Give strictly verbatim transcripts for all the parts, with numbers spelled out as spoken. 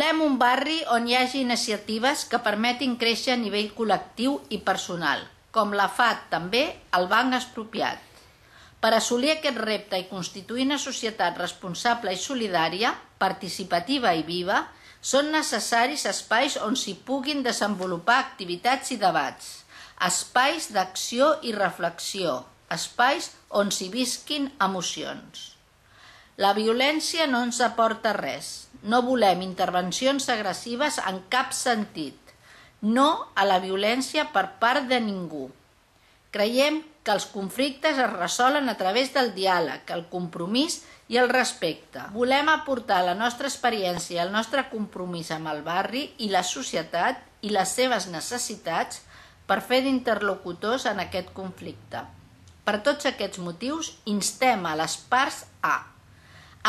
Volem un barri on hi hagi iniciatives que permetin créixer a nivell col·lectiu i personal, com la F A T també el Banc Expropiat. Per assolir aquest repte i constituir una societat responsable i solidària, participativa i viva, són necessaris espais on s'hi puguin desenvolupar activitats i debats, espais d'acció i reflexió, espais on s'hi visquin emocions. La violència no ens aporta res. No volem intervencions agressives en cap sentit. No a la violència per part de ningú. Creiem que els conflictes es resolen a través del diàleg, el compromís i el respecte. Volem aportar la nostra experiència i el nostre compromís amb el barri i la societat i les seves necessitats per fer d'interlocutors en aquest conflicte. Per tots aquests motius, instem a les parts a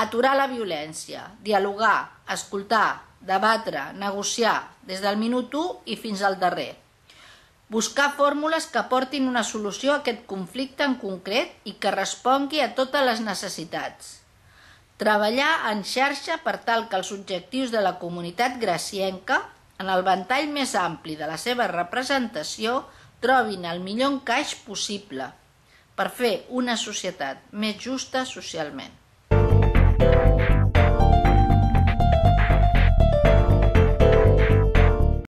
aturar la violència, dialogar, escoltar, debatre, negociar, des del minut u i fins al darrer. Buscar fórmules que portin una solució a aquest conflicte en concret i que respongui a totes les necessitats. Treballar en xarxa per tal que els objectius de la comunitat gracienca, en el ventall més ampli de la seva representació, trobin el millor encaix possible per fer una societat més justa socialment.